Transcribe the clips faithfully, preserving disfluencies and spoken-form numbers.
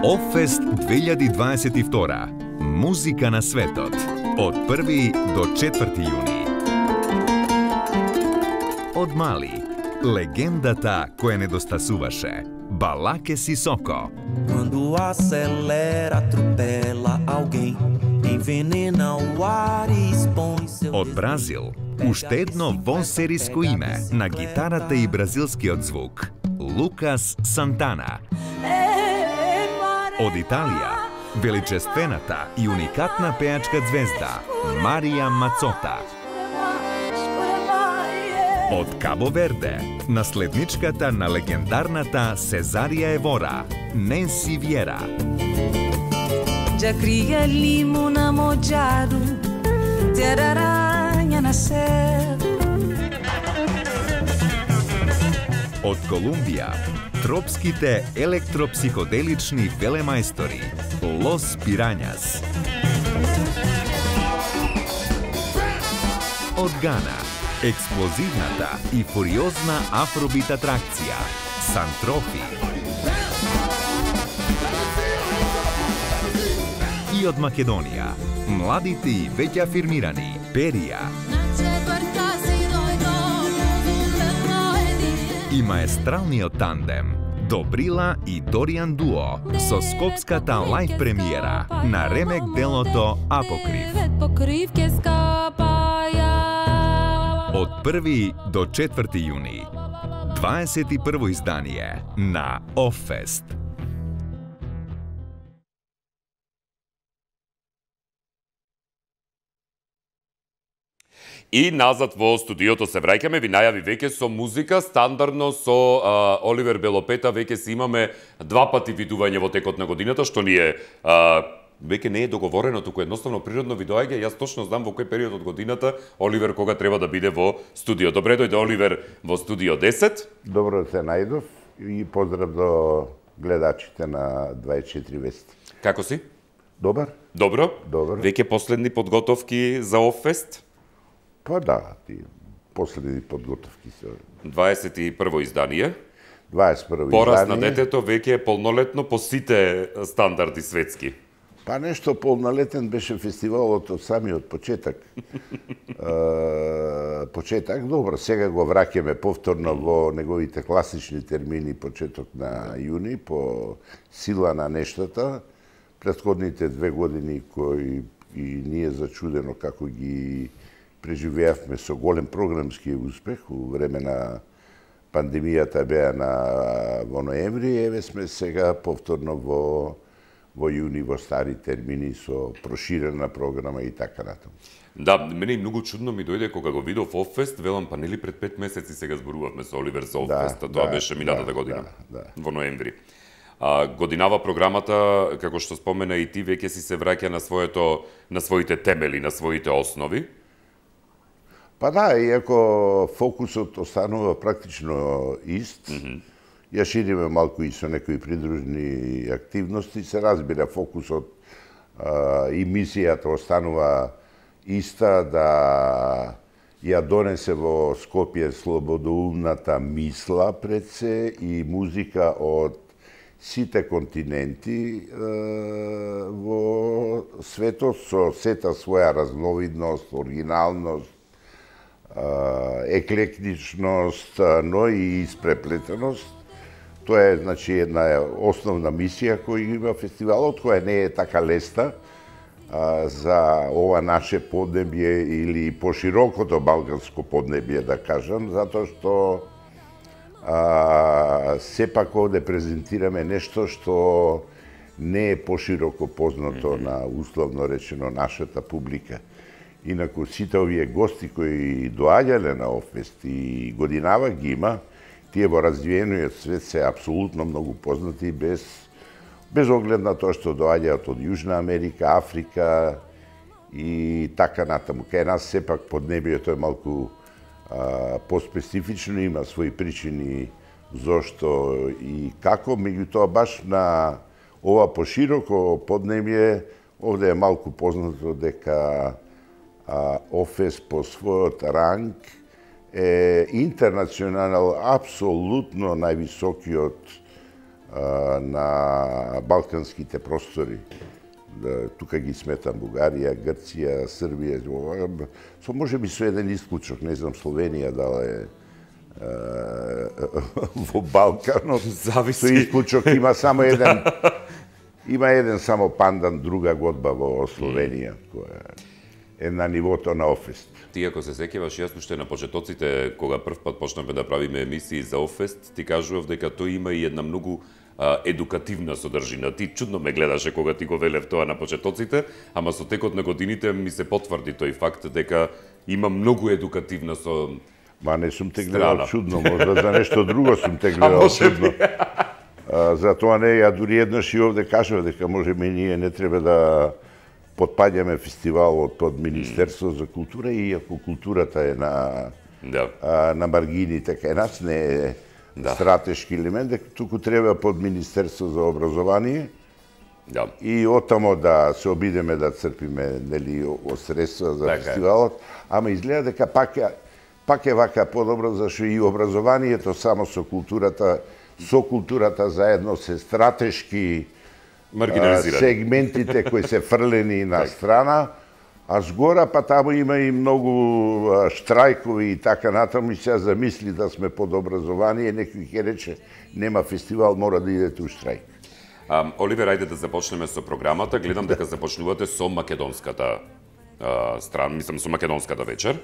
Оффест две илјади дваесет и втора. Музика на светот. Од први до четврти јуни. Од Мали, легендата која недостасуваше, Балаке Сисоко. Quando acelera, atropela alguém, envenena o ar e expõe seu. Од Бразил, уште едно вонсериско име на гитарата и бразилскиот звук, Лукас Сантана. Од Италија, величествената и уникатна пеачка звезда, Марија Мацота. Од Кабо Верде, наследничката на легендарната Сезарија Евора, Ненси Виера. Já cria limo na mojado, ter aranha na céu. Од Колумбија, тропските електропсиходелични велемајстори, Лос Пирањас. Од Гана, експлозивната и фуриозна афробит атракција, Сантрофи. И од Македонија, младите и веќе афирмирани, Перија. И маестралниот тандем, Добрила и Доријан Дуо, со скопската лајв премиера на ремек делото Апокрив. Од први до четврти јуни, дваесет и прво издание на Оффест. И назад во студиото се враќаме, ви најави веќе со музика, стандардно со а, Оливер Белопета веќе си имаме два пати видување во текот на годината, што ни е а, веќе не е договорено, туку едноставно природно ви доаѓа. Јас точно знам во кој период од годината Оливер кога треба да биде во студио. Добре дојде Оливер во студио десет. Добро се најдов и поздрав до гледачите на дваесет и четири вести. Како си? Добар. Добро? Добро. Веќе последни подготовки за Оффест? Па да, ти последни подготовки се. дваесет и прво издание. дваесет и прво Пораз издание. на детето веќе е полнолетно по сите стандарди светски. Па нешто полнолетен беше фестивалот од самиот почеток. е, почеток, добро, сега го враќаме повторно во неговите класични термини почеток на јуни по сила на нештата. Претходните две години кои и ние зачудено како ги преживеавме со голем програмски успех у време на пандемијата беа на во ноември, еве сме сега повторно во во јуни во стари термини со проширена програма и така натаму. Да, мене и многу чудно ми дојде кога го видов Оффест, велам па нели пред пет месеци сега зборувавме со Оливер за Оффест, Да, тоа да, беше минатата да, година, да, да. во ноември. А, годинава програмата, како што спомена и ти, веќе си се враќа на своето на своите темели, на своите основи. Па да, иако фокусот останува практично ист, mm -hmm. ја шириме малку и со некои придружни активности, се разбира фокусот а, и мисијата останува иста, да ја донесе во Скопје слободоумната мисла пред се и музика од сите континенти е, во светот со сета своја разновидност, оригиналност, еклектичност, но и испреплетеност. Тоа е, значи, една основна мисија која има фестивалот, која не е така лесна а, за ова наше поднебје или поширокото балканско поднебје, да кажам, затоа што а, сепак овде презентираме нешто што не е пошироко познато mm -hmm. на, условно речено, нашата публика. Инаку сите овие гости кои доаѓале на Оффест и годинава ги има, тие во развиениот свет се апсолутно многу познати без без оглед на тоа што доаѓаат од Јужна Америка, Африка и така натаму. Кај нас сепак поднебјето е малку а, поспецифично, има своји причини зошто и како, меѓутоа баш на ова пошироко поднебје овде е малку познато дека Оффест по својот ранг е интернационал, апсолутно највисокиот а, на балканските простори. Да, тука ги сметам Бугарија, Грција, Србија, со можеби со еден исклучок, не знам Словенија дала е во Балканот. Зависи. Со исклучок има само еден има еден само пандан, друга годба во Словенија, која е на нивото на Офест. Ти ако се сеќаваш, јас уште на почетоците, кога прв пат почнавме да правиме емисии за Офест, ти кажував дека тој има и една многу а, едукативна содржина. Ти чудно ме гледаше кога ти го велев тоа на почетоците, ама со текот на годините ми се потврди тој факт дека има многу едукативна со Ма не сум те гледал чудно, можда за нешто друго сум те гледал чудно. А, затоа не, ја дури еднаш и овде кажав дека можеме ние не треба да потпаѓаме фестивалот под Министерство за култура, иако културата е на, да. а, на маргините кај нас, не е да. стратешки елемент, дека туку треба под Министерство за образование, да. и оттамо да се обидеме да црпиме нели од средства за така фестивалот, ама изгледа дека пак е пак е вака подобро, зашто и образованието само со културата, со културата заедно се стратешки сегментите кои се фрлени на страна, а згора па таму има и многу штрајкови и така натаму, и се замисли да сме под образование, некој ќе рече нема фестивал, мора да идете у штрајк. Um, Оливер, ајде да започнеме со програмата. Гледам дека започнувате со македонската uh, страна, мислам со македонската вечер.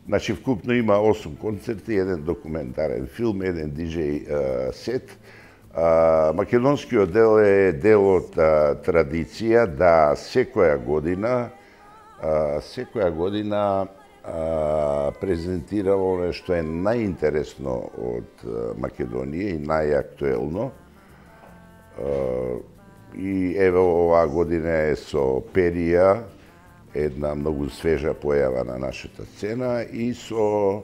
Значи, вкупно има осум концерти, еден документарен филм, еден диџеј uh, сет. Uh, македонскиот дел е дел од uh, традиција да секоја година uh, секоја година uh, презентирamo оно што е најинтересно од uh, Македонија и најактуелно. Uh, и еве оваа година е со Перија, една многу свежа појава на нашата сцена, и со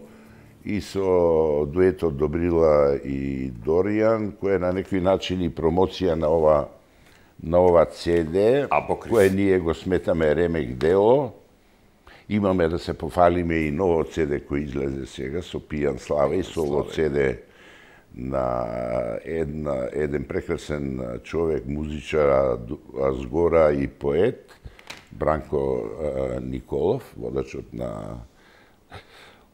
и со дуетот Добрила и Доријан, кој е на некој начин и промоција на ова на ова Це Де, кое ние го сметаме ремек дело. Имаме да се пофалиме и ново Це Де кој излезе сега со Пијан Слава и со ово Це Де на една, еден прекрасен човек, музичар, а згора и поет, Бранко а, Николов, водачот на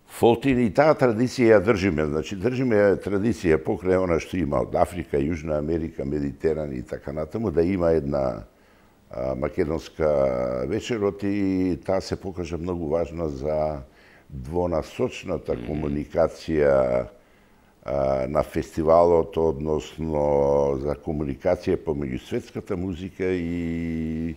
Фолтин, и таа традиција ја држиме. Значи, држиме традиција покрај она што има од Африка, Јужна Америка, Медитеран и така натаму, да има една а, македонска вечерот, и таа се покажа многу важна за двонасочната комуникација а, на фестивалот, односно за комуникација помеѓу светската музика и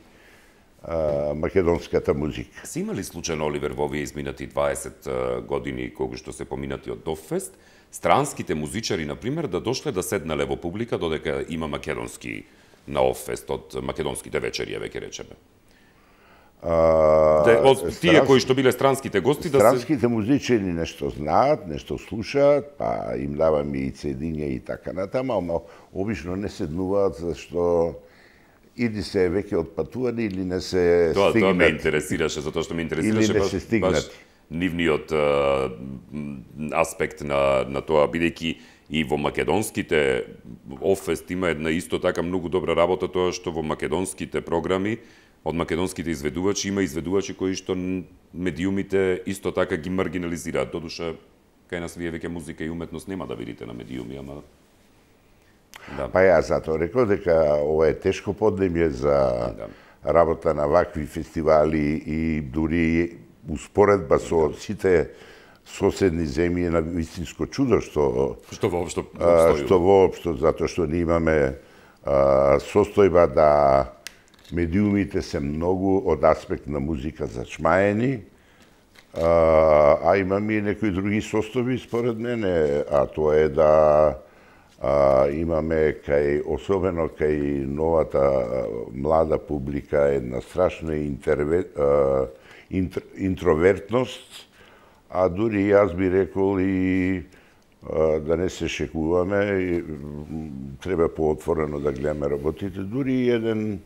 а, македонската музика. Си имали случајно, Оливер, во овие изминати дваесет години кога што се поминати од Дофест, странските музичари, например, да дошле да седнале во публика додека има македонски на Офест од македонските вечери, веќе речеме? А, Де, од тие странс... кои што биле странските гости да се... Странските музичари нешто знаат, нешто слушаат, па им даваме и цедиња и така натаму, ама обично не седнуваат зашто или се веќе отпатувани, или не се тоа, стигнат. Тоа ме интересираше, затоа што ме интересираше баш, баш нивниот а, аспект на, на тоа, бидејќи и во македонските Офест има една исто така многу добра работа, тоа што во македонските програми од македонските изведувачи има изведувачи кои што медиумите исто така ги маргинализираат. Додуша, кај нас вие веќе музика и уметност нема да видите на медиуми, ама... Да. Па ја затоа рекол дека ова е тешко поднебје за да. работа на вакви фестивали, и дури успоредба со да. сите соседни земји на вистинско чудо што што воопшто а, што воопшто, затоа што ние имаме а, состојба да медиумите се многу од аспект на музика зачмаени, а, а имаме и некои други состојби според мене, а тоа е да а, имаме кај, особено кај новата а, млада публика, една страшна интерве, а, интр, интровертност, а дури јас би рекол и а, да не се шекуваме, и, треба поотворено да гледаме работите, дури еден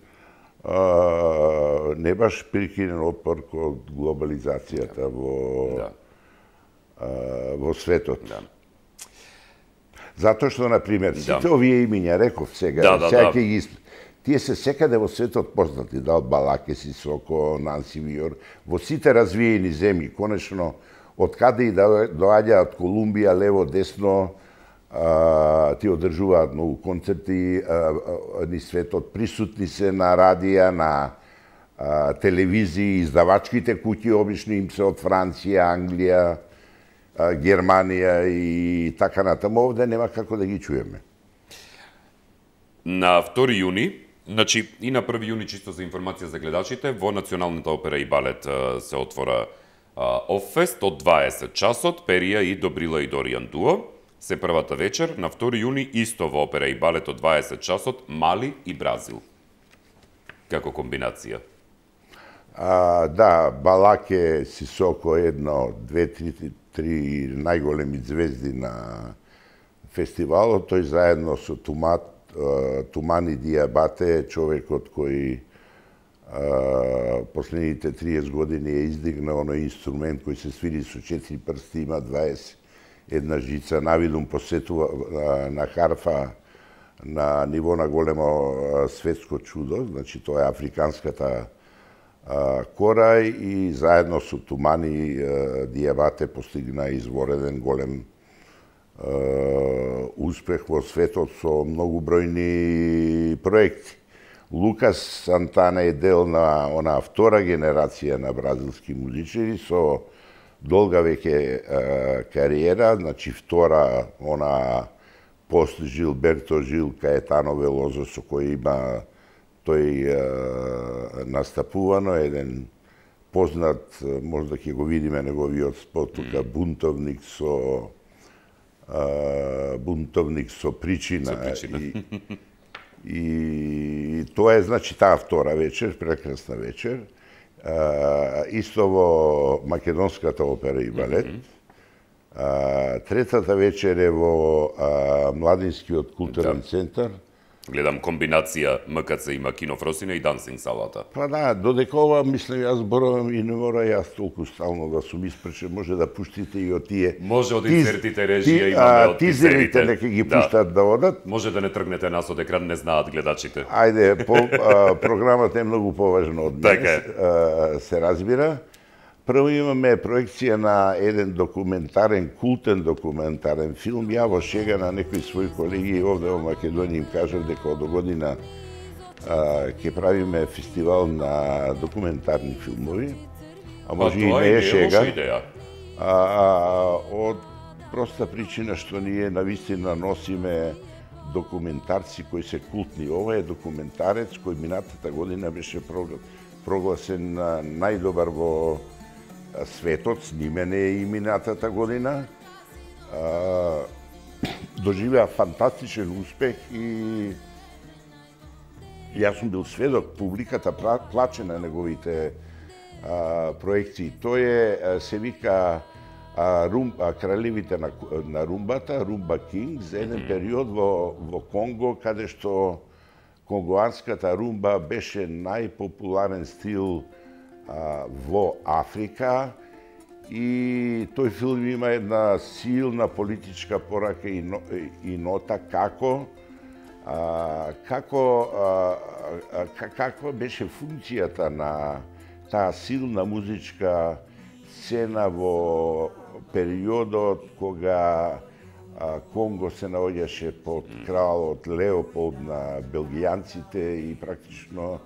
а, не баш прикинен отпор од глобализацијата во, да. а, во светот. Да. Затоа што, например, сите Да. овие имиња, реков сега, Да, да, сега да. ќе ги исп- тие се секаде во светот познати, да, од Балаке, Сисоко, Нанси Виор, во сите развиени земји, конечно, од каде и да доаѓа од Колумбија, лево, десно, а, ти одржуваат многу концерти а, а, низ светот, присутни се на радија, на а, телевизии, издавачките куќи обично им се од Франција, Англија, а, Германија и така натаму, овде нема како да ги чуеме. На втори јуни, значи и на први јуни, чисто за информација за гледачите, во Националната опера и балет а, се отвора Оффест од дваесет часот, Перија и Добрила и Доријан дуо. Се првата вечер, на втори јуни, исто во опера и балет од дваесет часот, Мали и Бразил. Како комбинација. А, да, Балаке, Сисоко, едно, две, три, три најголеми звезди на фестивалот, тој заедно со Тумат, Тумани Диабате, човекот кој а, последните триесет години е издигнал оној инструмент кој се свири со четири прсти, има дваесет една жица, навидум посетува а, на харфа на ниво на големо а, светско чудо, значи тоа е африканската а, кора и заедно со Тумани а, Диабате постигна извореден голем Uh, успех во светот со многу бројни проекти. Лукас Сантана е дел на она втора генерација на бразилски музичари со долга веќе uh, кариера, значи втора она пост Жилберто Жил Каетано Велозо со кој има тој uh, настапувано, еден познат, можда ќе го видиме неговиот спот тука, бунтовник со Uh, бунтовник со причина, Со причина. И, и тоа е значи таа втора вечер, прекрасна вечер. Uh, исто во Македонската опера и балет. Mm -hmm. uh, третата вечер е во uh, Младинскиот културен да. центар. Гледам комбинација М К Ц има Кино Фросина и Дансинг салата. Па да, додека ова, мислам, јас зборувам и не мора јас толку стално да сум испречен, може да пуштите и од тие... Може од тиз- инсертите режија ти- имаме а, од тизерите тизерите. нека ги Да. пуштат да одат. Може да не тргнете нас од екран, не знаат гледачите. Ајде, по, а, програмата е многу поважна од мене, Така е. а, се разбира. Прво имаме проекција на еден документарен, култен документарен филм. Ја во шега на некои своји колеги овде во Македонија им кажав дека од година а, ќе правиме фестивал на документарни филмови. А може и тоа не и е не е шега. лоша идеја. А, а, од проста причина што ние навистина носиме документарци кои се култни. Ова е документарец кој минатата година беше прогла- прогласен на најдобар во светот, снимен е и минатата година. А, доживеа фантастичен успех и јас сум бил сведок, публиката пла- плаче на неговите а, проекции. Тој е, а, се вика а, рум, а, кралевите на, на румбата, Румба Кингс, еден период во, во Конго, каде што конгоанската румба беше најпопуларен стил а, во Африка и тој филм има една силна политичка порака и, но, и нота како а, како а, а, каква беше функцијата на таа силна музичка сцена во периодот кога а, Конго се наоѓаше под кралот Леополд на белгијанците и практично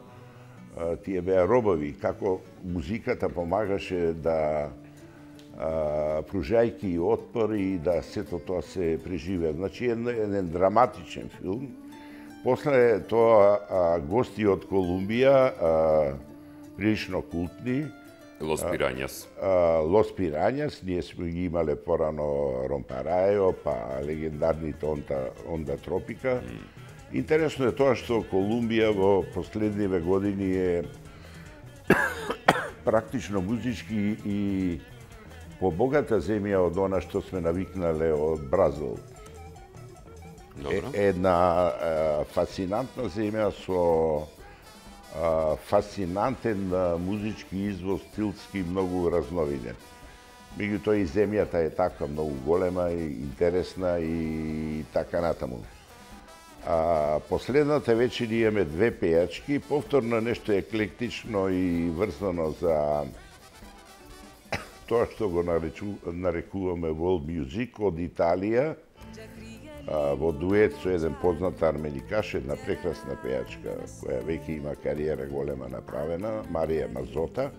а, тие беа робови, како музиката помагаше да а, пружајки отпор и да сето тоа се преживеа. Значи еден, еден драматичен филм. После тоа а, гости од Колумбија, а, прилично култни, Лос Пирањас. а, Лос Пирањас, ние сме ги имале порано Ромпарајо, па легендарните Онда, Онда Тропика. Mm. Интересно е тоа што Колумбија во последниве години е практично музички и побогата земја од она што сме навикнале од Бразил. Е, една е, фасцинантна земја со е, фасцинантен е, музички извоз, стилски, многу разновиден. Меѓутоа и земјата е така многу голема и интересна и така натаму. А последната вечер имаме две пејачки, повторно нешто еклектично и врзано за тоа што го нарекуваме world music од Италија, во дует со еден познат арменикаш, една прекрасна пејачка која веќе има кариера голема направена, Марија Мазота.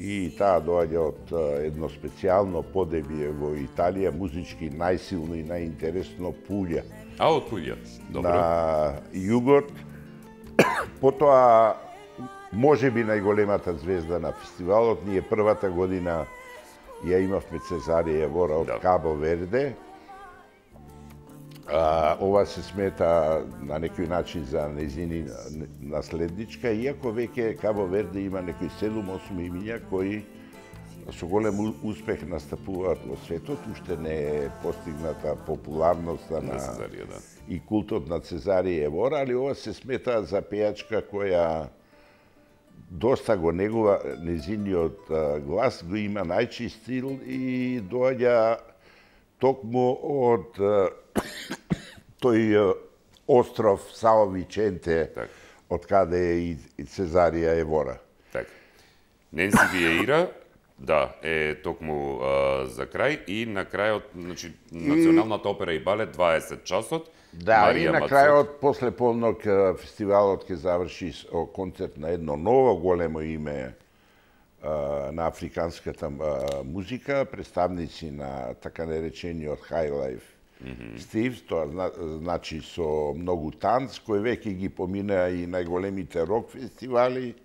И таа доаѓа од едно специјално подебје во Италија, музички најсилно и најинтересно Пулја. А, од Пулја, добро. На југот. Потоа, можеби најголемата звезда на фестивалот, ние првата година ја имавме Цезарија Евора од да. Кабо Верде. А, ова се смета на некој начин за нејзини наследничка, иако веќе Кабо Верде има некои седум-осум имиња кои со голем успех настапуваат во светот, уште не е постигната популарноста на, на Цезарија, да. и култот на Цезарија Евора, али ова се смета за пејачка која доста го негува нејзиниот глас, го има најчист стил и доаѓа токму од тој остров Сао Виченте, так. од каде е и, и Цезарија Евора. Так. Ненси Виеира, да, е токму а, за крај и на крајот, значи, Националната опера и балет дваесет часот. Да, Марија и на Мацот. крајот, после полнок, фестивалот ќе заврши со концерт на едно ново големо име а, на африканската а, музика, представници на така наречениот High Life mm-hmm. Steves, тоа зна, значи со многу танц, кои веќе ги поминаа и најголемите рок фестивали,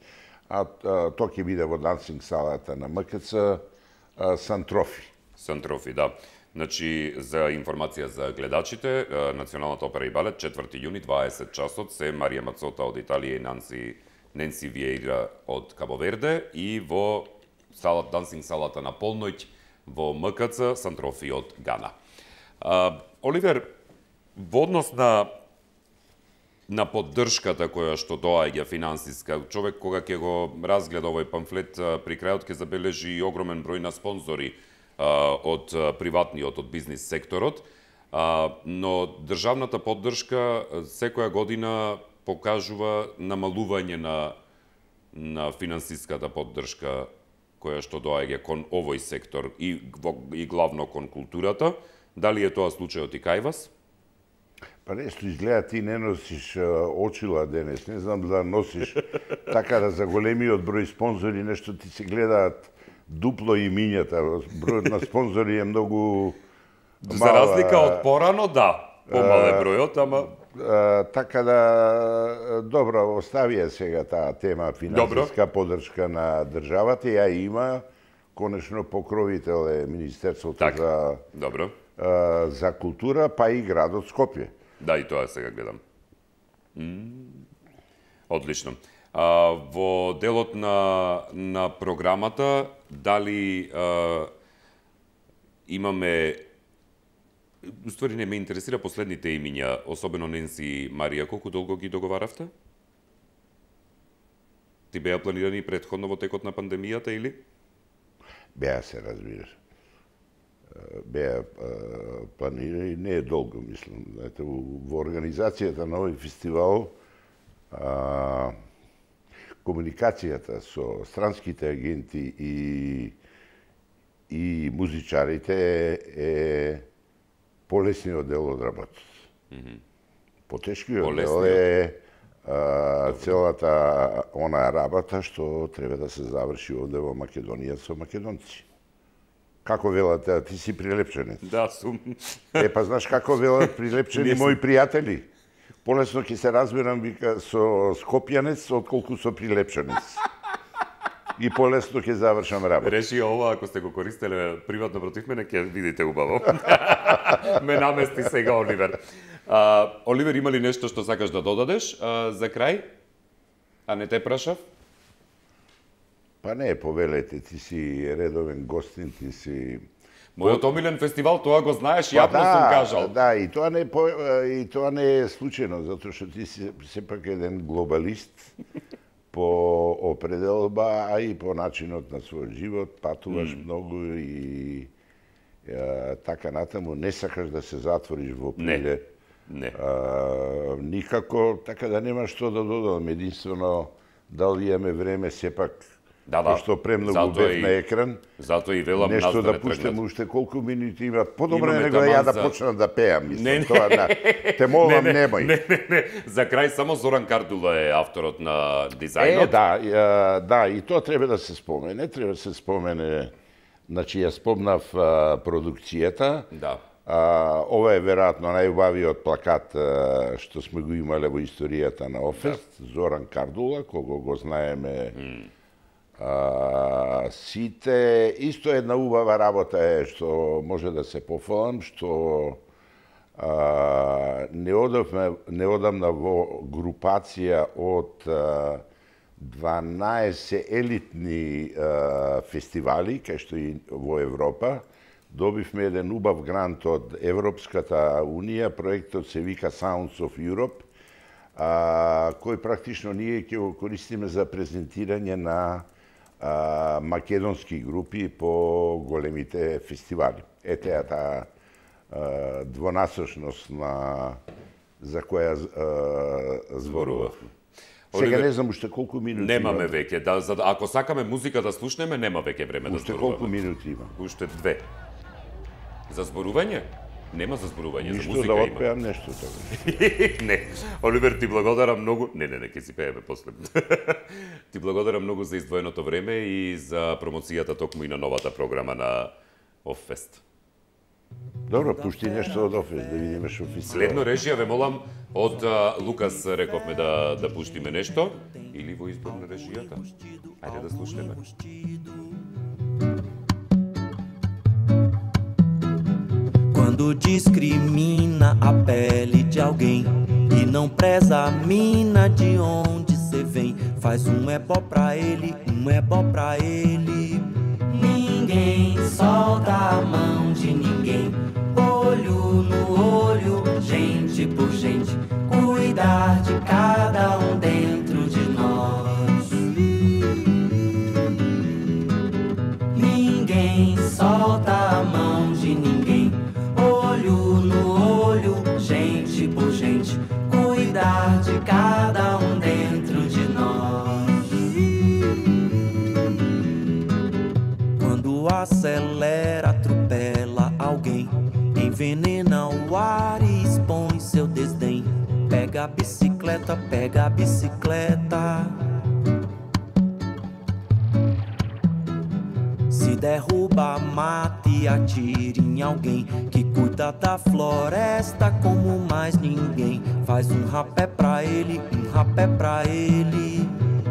а, а тоа ќе биде во дансинг салата на МКЦ Сантрофи. Сантрофи, да. Значи, за информација за гледачите, Националната опера и балет, четврти јуни, дваесет часот, се Марија Мацота од Италија и Нанси, Ненси Виеира од Кабо Верде и во салат, дансинг салата на полноќ во МКЦ Сантрофи од Гана. А, Оливер, во однос на на поддршката која што доаѓа финансиска, човек кога ќе го разгледа овој памфлет при крајот ќе забележи и огромен број на спонзори а, од приватниот, од бизнис секторот, а, но државната поддршка секоја година покажува намалување на на финансиската поддршка која што доаѓа кон овој сектор и, и главно кон културата. Дали е тоа случајот и кај вас? Па нешто изгледа ти не носиш очила денес, не знам да носиш така да за големиот број спонзори нешто ти се гледаат дупло имињата, бројот на спонзори е многу мал. За разлика од порано, да, помал е бројот, ама а, така да добро оставија сега таа тема финансиска поддршка на државата, ја има, конечно покровител е Министерството так, за добро. А, за култура, па и градот Скопје. Да, и тоа сега гледам. М Одлично. А, во делот на, на програмата, дали а, имаме... Уствари не ме интересира последните имиња, особено Ненси Марија, колку долго ги договаравте? Ти беа планирани претходно во текот на пандемијата или? Беа се, разбираш. Беа планирани, не е долго, мислам. Знаете, во организацијата на овој фестивал а, комуникацијата со странските агенти и и музичарите е полесниот дел од работата. Mm -hmm. Потешкиот дел е а, целата она работа што треба да се заврши овде во Македонија со македонци. Како велате, ти си прилепченец? Да, сум. Е, па знаеш како велат прилепчени мои пријатели? Полесно ќе се разбирам, вика, со скопјанец, отколку со прилепченец. И полесно ќе завршам работа. Реши ова, ако сте го користеле приватно против мене, ќе видите убаво. Ме намести сега, Оливер. А, Оливер, има ли нешто што сакаш да додадеш а, за крај? А не те прашав? Па не, повелете, ти си редовен гостин, ти си... Мојот омилен фестивал, тоа го знаеш, па јавно да, сум кажал. Да, и тоа не по, и тоа не е случајно, затоа што ти си сепак еден глобалист, по определба, а и по начинот на својот живот, патуваш mm. многу и е, така натаму не сакаш да се затвориш во приле. Не. Не. А, никако, така да нема што да додадам, единствено дали имаме време сепак. Да, да. Што премногу бев на екран. Затоа и велам нас нешто да, да пуштам уште колку минути има. Подобро е него ја да за... почнам да пеам, мислам. Не, не. Тоа на те молам не, не, немој. Не, не, не. За крај само Зоран Кардула е авторот на дизајнот. Е, да, е, да, и тоа треба да се спомене, треба да се спомене. Значи ја спомнав а, продукцијата. Да. А, ова е веројатно најубавиот плакат а, што сме го имале во историјата на Офест, да. Зоран Кардула, кого го знаеме. Mm. А, сите, исто една убава работа е што може да се пофалам, што а, не одавме, не одамна во групација од а, дванаесет елитни а, фестивали, кај што и во Европа, добивме еден убав грант од Европската Унија, проектот се вика Sounds of Europe, а, кој практично ние ќе го користиме за презентирање на а, македонски групи по големите фестивали. Ете ја таа двонасочност на за која зборувавме. Сега не знам уште колку минути немаме има. веќе, да, за, ако сакаме музика да слушнеме, нема веќе време да уште зборуваме. Уште колку минути има? Уште две. За зборување? Нема за зборување, Ништо за музика да има. отпеам нешто тоа. Не, Оливер, ти благодарам многу. Не, не, не, ќе си пееме после. Ти благодарам многу за издвоеното време и за промоцијата токму и на новата програма на Оффест. Добро, пушти нешто од Оффест, да видиме што фестивал. Следно режија, ве молам, од а, Лукас рековме да, да пуштиме нешто, или во избор на режијата. Ајде да слушнеме. Quando discrimina a pele de alguém e não preza a mina de onde cê vem, faz um ebó pra ele, um ebó pra ele. Ninguém solta a mão de ninguém, olho no olho, gente por gente, cuidar de cada um dentro de nós. Ninguém solta a mão de ninguém, olho no olho, gente por gente, cuidar de cada um dentro de nós. Quando acelera, atropela alguém, envenena o ar e expõe seu desdém. Pega a bicicleta, pega a bicicleta. Se derruba, mata e atira em alguém que cuida da floresta como mais ninguém. Faz um rapé pra ele, um rapé pra ele.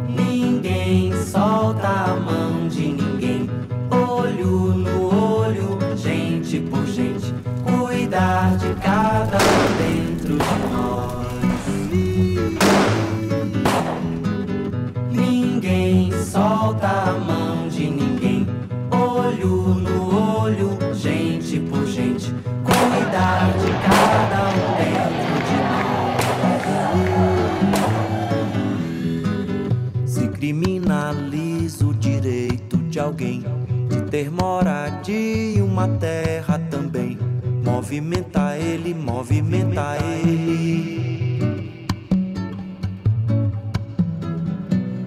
Ninguém solta a mão de ninguém, olho no olho, gente por gente, cuidar de cada um dentro de nós. Ninguém solta a mão de ninguém, olho no olho, gente por gente, cuidar de cada um dentro de nós. Se criminaliza o direito de alguém de ter moradia e uma terra também, movimenta ele, movimenta ele.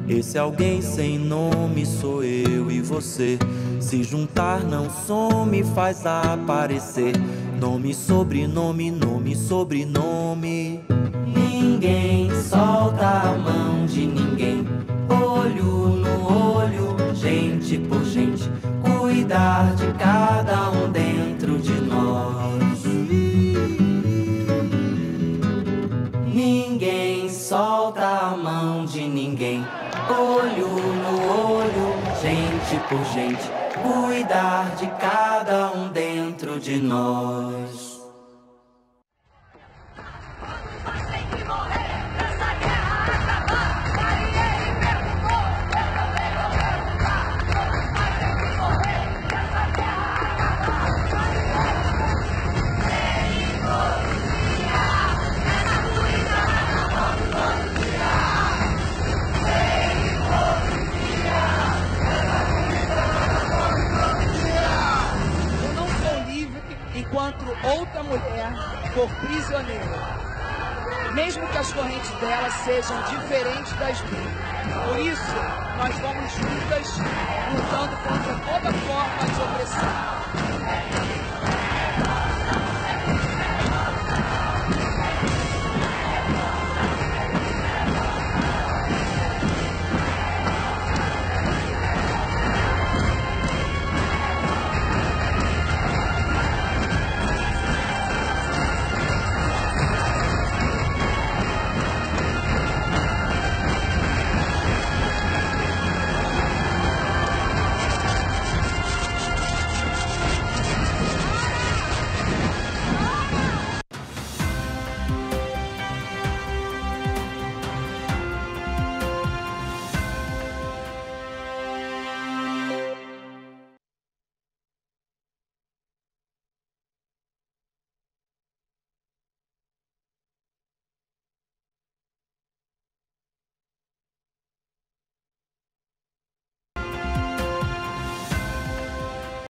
Esse alguém sem nome sou eu e você. Se juntar não some, faz aparecer nome, sobrenome, nome, sobrenome. Ninguém solta a mão de ninguém, olho no olho, gente por gente, cuidar de cada um dentro de nós. Ninguém solta a mão de ninguém, olho no olho, gente por gente, cuidar de cada um dentro de nós. for prisioneira, mesmo que as correntes dela sejam diferentes das minhas. Por isso, nós vamos juntas lutando contra